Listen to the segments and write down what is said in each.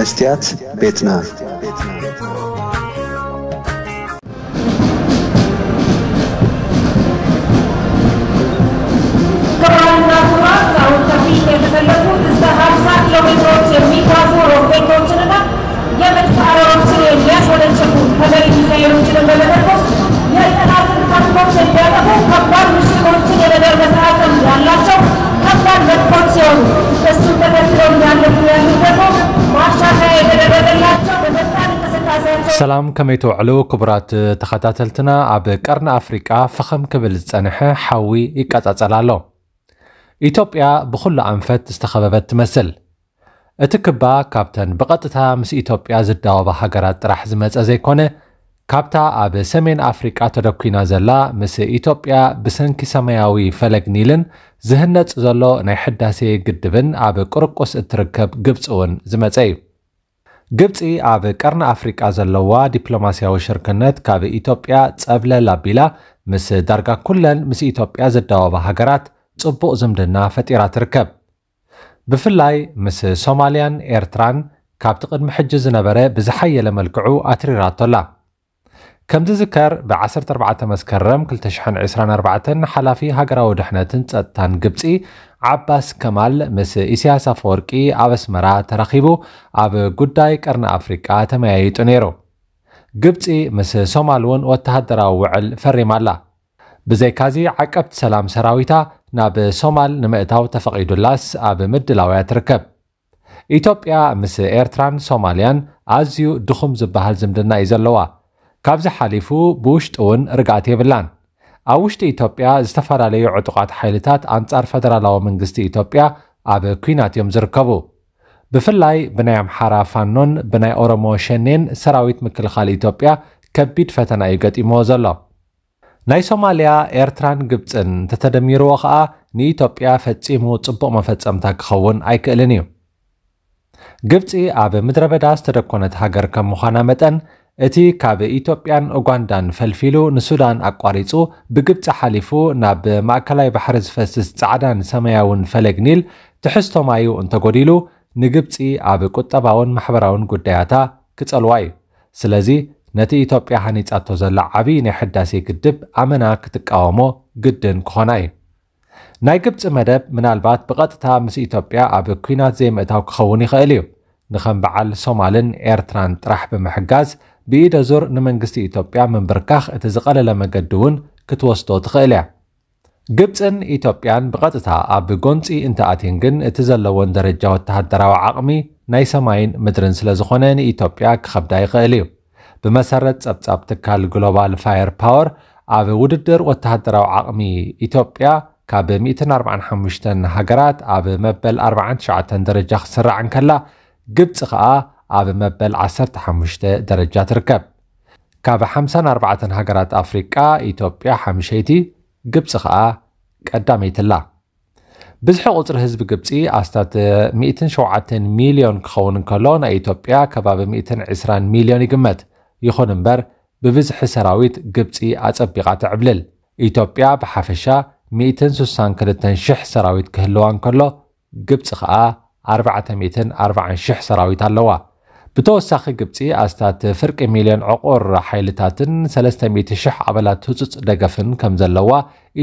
መስትያት ቤትና። ክቡራትና ክቡራት፣ አሁን ከፊት የተሰለፉ እስከ ሀምሳ ኪሎ ሜትሮች የሚጓዙ ሮኬቶችንና የመድፍ አረሮችን የሚያስወነጭፉ ከመሬት ሚሳኤሎችንም በመተኮስ የጠላትን ታንኮች የሚያጠፉ ከባድ ምሽጎችን የመደርመስ አቅም ያላቸው ከባድ መድፎች ሲሆኑ፣ እሱን ተከትለው እያለፉ ያሉት ደግሞ ማሻሻያ የተደረገላቸው በፈጣን እንቅስቃሴያቸው ሰላም፣ ከመይ ትውዕሉ ክቡራት ተኸታተልትና? ኣብ ቀርኒ ኣፍሪቃ ፈኸም ክብል ዝጸንሐ ሓዊ ይቀጻጸል ኣሎ። ኢትዮጵያ ብኹሉ ኣንፈት ዝተኸበበት ትመስል። እቲ ክባ ካብተን ብቐጥታ ምስ ኢትዮጵያ ዝዳወባ ሃገራት ጥራሕ ዝመጸ ዘይኮነ፣ ካብታ ኣብ ሰሜን ኣፍሪቃ ተደኲና ዘላ፣ ምስ ኢትዮጵያ ብሰንኪ ሰማያዊ ፈለግ ኒልን ዝህነጽ ዘሎ ናይ ሕዳሴ ግድብን ኣብ ቁርቁስ እትርከብ ግብጺ እውን ዝመጸ እዩ። ግብጺ ኣብ ቀርኒ ኣፍሪቃ ዘለዋ ዲፕሎማስያዊ ሽርክነት ካብ ኢትዮጵያ ጸብለል ኣቢላ፣ ምስ ዳርጋ ኩለን ምስ ኢትዮጵያ ዝዳወባ ሃገራት ጽቡቕ ዝምድና ፈጢራ ትርከብ። ብፍላይ ምስ ሶማልያን ኤርትራን ካብቲ ቅድሚ ሕጂ ዝነበረ ብዝሓየለ መልክዑ ኣትሪራቶ ኣላ። ከም ዝዝከር፣ ብ ዓሰርተ ኣርባዕተ መስከረም ክልተ ሽሕን ዕስራን ኣርባዕተን ሓላፊ ሃገራዊ ድሕነትን ጸጥታን ግብጺ ዓባስ ከማል ምስ ኢሳያስ ኣፈወርቂ ኣብ ኣስመራ ተራኺቡ ኣብ ጉዳይ ቀርኒ ኣፍሪቃ ተመያይጡ ነይሩ። ግብጺ ምስ ሶማል እውን ወተሃደራዊ ውዕል ፈሪማ ኣላ። ብዘይካዚ፣ ዓቀብቲ ሰላም ሰራዊታ ናብ ሶማል ንምእታው ተፈቒዱላስ ኣብ ምድላው እያ ትርከብ። ኢትዮጵያ ምስ ኤርትራን ሶማልያን ኣዝዩ ድኹም ዝበሃል ዝምድና እዩ ዘለዋ። ካብዚ ሓሊፉ ብውሽጢ እውን ርግኣት የብላን። ኣብ ውሽጢ ኢትዮጵያ ዝተፈላለዩ ዕጡቓት ሓይልታት ኣንጻር ፈደራላዊ መንግስቲ ኢትዮጵያ ኣብ ኲናት እዮም ዝርከቡ። ብፍላይ ብናይ ኣምሓራ ፋኖን ብናይ ኦሮሞ ሸኔን ሰራዊት ምክልኻል ኢትዮጵያ ከቢድ ፈተና እዩ ገጢምዎ ዘሎ። ናይ ሶማልያ፣ ኤርትራን ግብጽን እንተተደሚርዎ ኸኣ ንኢትዮጵያ ፈጺሙ ጽቡቕ መፈጸምታ ክኸውን ኣይክእልን እዩ። ግብጺ ኣብ ምድረ በዳ ዝተደኮነት ሃገር ከም ምዃና መጠን፣ እቲ ካብ ኢትዮጵያን ኡጋንዳን ፈልፊሉ ንሱዳን ኣቋሪጹ ብግብጺ ሓሊፉ ናብ ማእከላይ ባሕሪ ዝፈስስ ጻዕዳን ሰማያውን ፈለግ ኒል ትሕዝቶ ማዩ እንተጎዲሉ፣ ንግብጺ ኣብ ቁጠባውን ማሕበራውን ጉዳያታ ክጸልዋ እዩ። ስለዚ ነቲ ኢትዮጵያ ሃኒጻቶ ዘላ ዓቢ ናይ ሕዳሴ ግድብ ኣመና ክትቃወሞ ግድን ክኾና እዩ። ናይ ግብጺ መደብ ምናልባት ብቐጥታ ምስ ኢትዮጵያ ኣብ ኲናት ዘይምእታው ክኸውን ይኽእል እዩ። ንኸም በዓል ሶማልን ኤርትራን ጥራሕ ብምሕጋዝ ብኢደ ዙር ንመንግስቲ ኢትዮጵያ ምንብርካኽ እቲ ዝቐለለ መገዲ እውን ክትወስዶ ትኽእል እያ። ግብጽን ኢትዮጵያን ብቐጥታ ኣብ ጎንጺ እንተኣትየን ግን እቲ ዘለወን ደረጃ ወተሃደራዊ ዓቕሚ ናይ ሰማይን ምድርን ስለ ዝኾነ ንኢትዮጵያ ክኸብዳ ይኽእል እዩ። ብመሰረት ጸብጻብ ትካል ግሎባል ፋየር ፓወር ኣብ ውድድር ወተሃደራዊ ዓቕሚ ኢትዮጵያ ካብ ሚእትን ኣርባዓን ሓሙሽተን ሃገራት ኣብ መበል ኣርባዓን ትሽዓተን ደረጃ ክትስራዕ እንከላ ግብጺ ኸኣ ኣብ መበል ዓሰርተ ሓሙሽተ ደረጃ ትርከብ። ካብ ሓምሳን ኣርባዕተን ሃገራት ኣፍሪቃ ኢትዮጵያ ሓምሸይቲ፣ ግብጺ ኸኣ ቀዳመይቲ ኣላ። ብዝሒ ቁጽሪ ህዝቢ ግብጺ ኣስታት ሚእትን ሸውዓተን ሚልዮን ክኸውን እንከሎ ናይ ኢትዮጵያ ከባቢ ሚእትን ዕስራን ሚልዮን ይግመት። ይኹን እምበር ብብዝሒ ሰራዊት ግብጺ ኣጸቢቓ ትዕብልል። ኢትዮጵያ ብሓፈሻ ሚእትን ስሳን ክልተን ሽሕ ሰራዊት ክህልዋ እንከሎ ግብጺ ኸኣ ኣርባዕተ ሚእትን ኣርባዓን ሽሕ ሰራዊት ኣለዋ። ብተወሳኺ ግብጺ ኣስታት ፍርቂ ሚልዮን ዕቑር ሓይልታትን ሰለስተ ሚእቲ ሽሕ ኣባላት ህጹጽ ደገፍን ከም ዘለዋ፣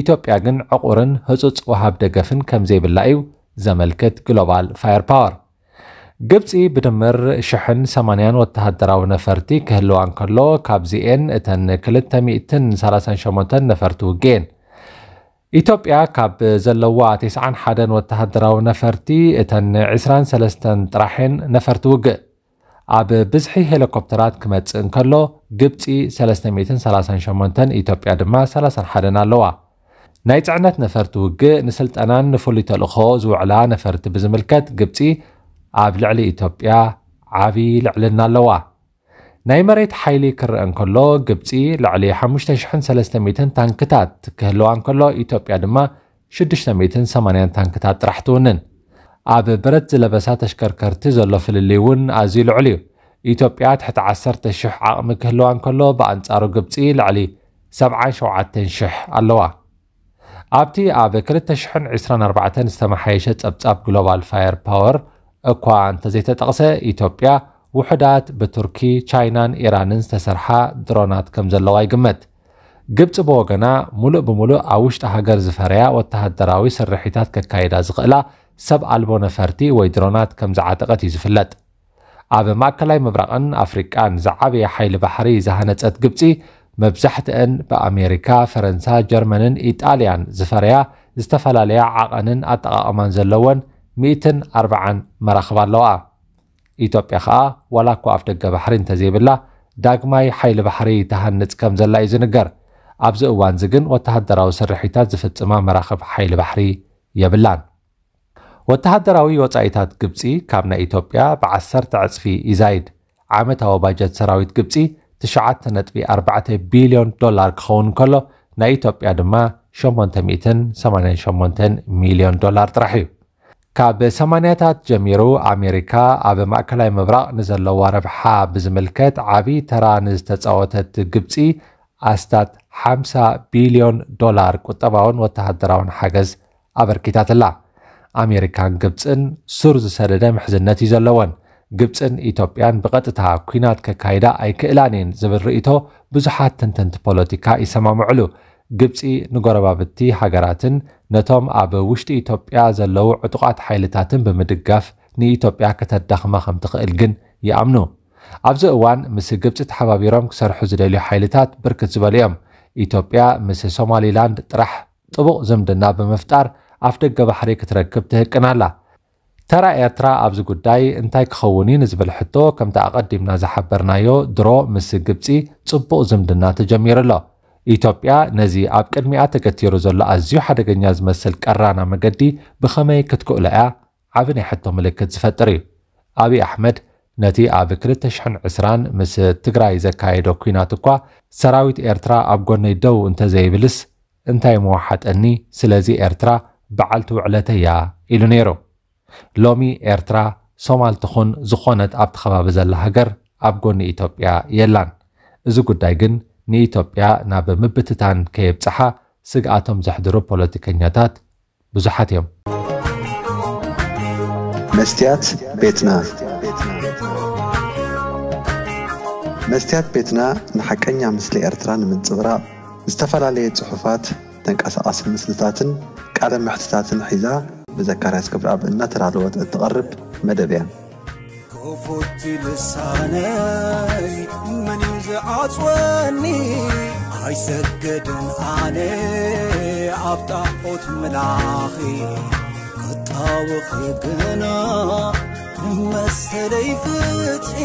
ኢትዮጵያ ግን ዕቑርን ህጹጽ ወሃብ ደገፍን ከም ዘይብላ እዩ ዘመልክት ግሎባል ፋየር ፓወር። ግብጺ ብድምር ሽሕን ሰማንያን ወተሃደራዊ ነፈርቲ ክህልዋ እንከሎ ካብዚኤን እተን ክልተ ሚእትን ሰላሳን ሸሞንተን ነፈርቲ ውግእ እየን። ኢትዮጵያ ካብ ዘለዋ ተስዓን ሓደን ወተሃደራዊ ነፈርቲ እተን ዕስራን ሰለስተን ጥራሕ እየን ነፈርቲ ውግእ። ኣብ ብዝሒ ሄሊኮፕተራት ክመጽእ እንከሎ ግብጺ ሰለስተ ሚእትን ሰላሳን ሸሞንተን፣ ኢትዮጵያ ድማ ሰላሳን ሓደን ኣለዋ። ናይ ጽዕነት ነፈርቲ ውግእ ንስልጠናን ንፍሉይ ተልእኾ ዝውዕላ ነፈርቲ ብዝምልከት ግብጺ ኣብ ልዕሊ ኢትዮጵያ ዓቢ ልዕልና ኣለዋ። ናይ መሬት ሓይሊ ክረአ እንከሎ ግብጺ ልዕሊ ሓሙሽተ ሽሕን ሰለስተ ሚእትን ታንክታት ክህልዋ እንከሎ ኢትዮጵያ ድማ ሽዱሽተ ሚእትን ሰማንያን ታንክታት ጥራሕ ትውንን። ኣብ ብረት ዝለበሳ ተሽከርከርቲ ዘሎ ፍልልይ እውን ኣዝዩ ልዑል እዩ። ኢትዮጵያ ትሕቲ ዓሰርተ ሽሕ ዓቕሚ ክህልዋ እንከሎ ብኣንጻሩ ግብጺ ልዕሊ ሰብዓን ሸውዓተን ሽሕ ኣለዋ። ኣብቲ ኣብ ክልተ ሽሕን ዕስራን ኣርባዕተን ዝተመሓየሸ ጸብጻብ ግሎባል ፋየር ፓወር እኳ እንተዘይተጠቕሰ፣ ኢትዮጵያ ውሑዳት ብቱርኪ፣ ቻይናን ኢራንን ዝተሰርሓ ድሮናት ከም ዘለዋ ይግመት። ግብፂ ብወገና፣ ሙሉእ ብሙሉእ ኣብ ውሽጢ ሃገር ዝፈረያ ወተሃደራዊ ስርሒታት ከካይዳ ዝኽእላ ሰብ ኣልቦ ነፈርቲ ወይ ድሮናት ከም ዝዓጠቐት እዩ ዝፍለጥ። ኣብ ማእከላይ ምብራቕን ኣፍሪቃን ዝዓበየ ሓይሊ ባሕሪ ዝሃነጸት ግብጺ፣ መብዛሕትአን ብኣሜሪካ፣ ፈረንሳ፣ ጀርመንን ኢጣልያን ዝፈረያ ዝተፈላለያ ዓቐንን ኣጠቓቕማን ዘለወን ሚእትን ኣርባዓን መራኽብ ኣለዋ። ኢትዮጵያ ኸኣ ዋላ እኳ ኣፍደገ ባሕሪ እንተዘይብላ፣ ዳግማይ ሓይሊ ባሕሪ ትሃንጽ ከም ዘላ እዩ ዝንገር። ኣብዚ እዋንዚ ግን ወተሃደራዊ ስርሒታት ዝፍጽማ መራኽብ ሓይሊ ባሕሪ የብላን። ወተሃደራዊ ወጻኢታት ግብጺ ካብ ናይ ኢትዮጵያ ብዓሰርተ ዕጽፊ ይዛይድ። ዓመታዊ ባጀት ሰራዊት ግብጺ ትሽዓተ ነጥቢ ኣርባዕተ ቢልዮን ዶላር ክኸውን ከሎ፣ ናይ ኢትዮጵያ ድማ ሸሞንተ ሚእትን ሰማንያን ሸሞንተን ሚልዮን ዶላር ጥራሕ እዩ። ካብ ሰማንያታት ጀሚሩ ኣሜሪካ ኣብ ማእከላይ ምብራቕ ንዘለዋ ረብሓ ብዝምልከት ዓቢ ተራ ንዝተጻወተት ግብጺ ኣስታት ሓምሳ ቢልዮን ዶላር ቁጠባውን ወተሃደራውን ሓገዝ ኣበርኪታትላ። ኣሜሪካን ግብጽን ሱር ዝሰደደ ምሕዝነት እዩ ዘለወን። ግብጽን ኢትዮጵያን ብቐጥታ ኲናት ከካይዳ ኣይክእላን እየን ዝብል ርእይቶ ብዙሓት ተንተንቲ ፖለቲካ ይሰማምዕሉ። ግብጺ ንጎረባብቲ ሃገራትን ነቶም ኣብ ውሽጢ ኢትዮጵያ ዘለዉ ዕጡቓት ሓይልታትን ብምድጋፍ ንኢትዮጵያ ከተዳኽማ ከም ትኽእል ግን ይኣምኑ። ኣብዚ እዋን ምስ ግብጺ ተሓባቢሮም ክሰርሑ ዝደልዩ ሓይልታት ብርክት ዝበሉ እዮም። ኢትዮጵያ ምስ ሶማሊላንድ ጥራሕ ጥቡቕ ዝምድና ብምፍጣር ኣፍደገ ባሕሪ ክትረክብ ትህቅን ኣላ። ተራ ኤርትራ ኣብዚ ጉዳይ እንታይ ክኸውን እዩ ንዝብል ሕቶ፣ ከምቲ ኣቐዲምና ዝሓበርናዮ፣ ድሮ ምስ ግብጺ ጽቡቕ ዝምድና ተጀሚሩ ኣሎ። ኢትዮጵያ ነዚ ኣብ ቅድሚኣ ተገቲሩ ዘሎ ኣዝዩ ሓደገኛ ዝመስል ቀራና መገዲ ብኸመይ ክትክእሎ እያ? ዓቢ ናይ ሕቶ ምልክት ዝፈጥር እዩ። ኣብይ ኣሕመድ ነቲ ኣብ ክልተ ሽሕን ዕስራን ምስ ትግራይ ዘካየዶ ኲናት እኳ፣ ሰራዊት ኤርትራ ኣብ ጎነይ ደው እንተዘይብልስ እንታይ ምወሓጠኒ? ስለዚ ኤርትራ በዓልቲ ውዕለተይ እያ ኢሉ ነይሩ። ሎሚ ኤርትራ፣ ሶማል ትኹን ዝኾነት ኣብቲ ከባቢ ዘላ ሃገር፣ ኣብ ጎኒ ኢትዮጵያ የላን። እዚ ጉዳይ ግን ንኢትዮጵያ ናብ ምብትታን ከየብጽሓ ስግኣቶም ዘሕድሩ ፖለቲከኛታት ብዙሓት እዮም። መስትያት ቤትና። መስትያት ቤትና ንሓቀኛ ምስሊ ኤርትራ ንምንጽብራቕ ዝተፈላለየ ጽሑፋት፣ ተንቀሳቓሲ ምስልታትን ቃለ መሕትታትን ሒዛ ብዘካርያስ ገብረኣብ እናተዳለወት እትቐርብ መደብ እያ። ክፉት ልሳነይ መን እዩ ዝዓጽወኒ? ኣይሰግድን ኣነ ኣብ ጣዖት ምላኺ፣ ክጣወኺ ግና ንመሰለይ ፍትሒ